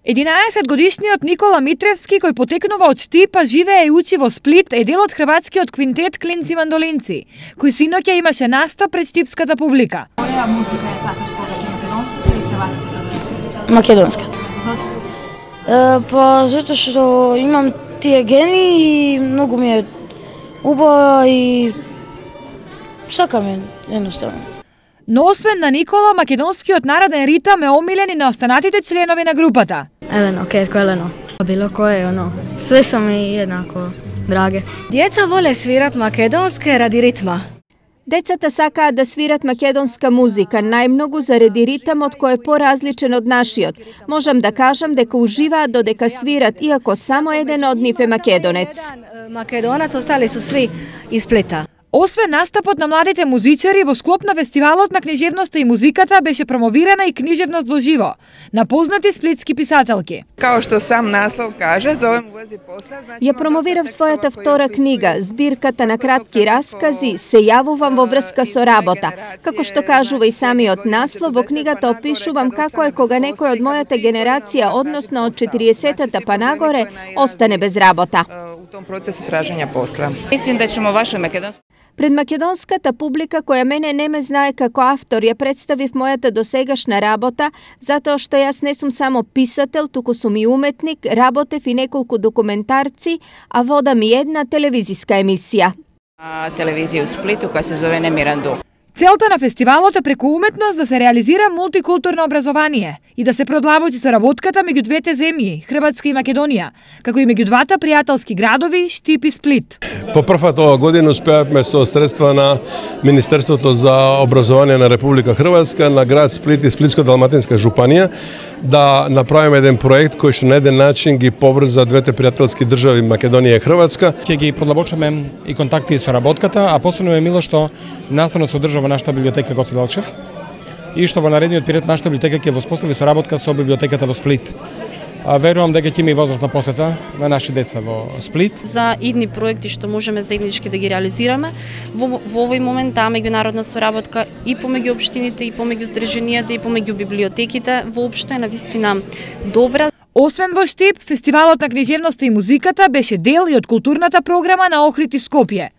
11-годишниот Никола Митревски, кој потекнува од Штип, а живее и учи во Сплит, е дел од хрватскиот квинтет Клинци Мандолинци, кој синоќа имаше настап пред штипската публика. Која музика ја сакаш повеќе, македонската или хрватската да свириш? Македонската. Зошто? Па затоа што имам тие гени и многу ми е убава и сакам е едноставно. Но освен на Никола, македонскиот народен ритам е омилен и на останатите членови на групата. Елено, Керко Елено. Било кое, све са ми еднако драге. Дјеца воле свират македонске ради ритма. Децата сакаат да свират македонска музика, најмногу заради ритамот кој е поразличен од нашиот. Можам да кажам дека уживаат додека свират, иако само еден од нив е македонец. Македонец, остали су сви из Сплита. Освен настапот на младите музичари, во склоп на фестивалот на книжевноста и музиката беше промовирана и книжевност во живо на познати сплитски писателки. Као што сам наслов каже, зовем Уези посла, Ја промовирав својата втора книга, збирката на кратки раскази Се јавувам во врска со работа. Како што кажува и самиот наслов, во книгата опишувам како е кога некој од мојата генерација, односно од 40-та па нагоре, остане без работа. У том процесу тражења посла. Мислим да ćemo vaše македонско Пред македонската публика, која мене не ме знае како автор, ја представив мојата досегашна работа, затоа што јас не сум само писател, туку сум и уметник, работев и неколку документарци, а водам и една телевизиска емисија. телевизија у Сплиту која се зове Немиран дух. Целта на фестивалот е преку уметност да се реализира мултикултурно образование и да се продлабочи соработката меѓу двете земји, Хрватска и Македонија, како и меѓу двата пријателски градови Штип и Сплит. По првпат ова година успеавме со средства на Министерството за образование на Република Хрватска, на град Сплит и Сплитско-Далматинска жупанија да направиме еден проект кој што на еден начин ги поврза двете пријателски држави Македонија и Хрватска. Ќе ги продлабочиме и контакти и соработката, а посебно е мило што наставно се одржува нашата библиотека Гоце Делчев и што во наредниот период нашата библиотека ќе воспостави соработка со библиотеката во Сплит. Верувам дека ќе има и возрастна посета на наши деца во Сплит. За идни проекти што можеме заеднички да ги реализираме, во овој момент таа меѓународна соработка и помеѓу општините, и помеѓу здруженијата, и помеѓу библиотеките, воопшто е навистина добра. Освен во Штип, фестивалот на книжевноста и музиката беше дел и од културната програма на Охрид и Скопје.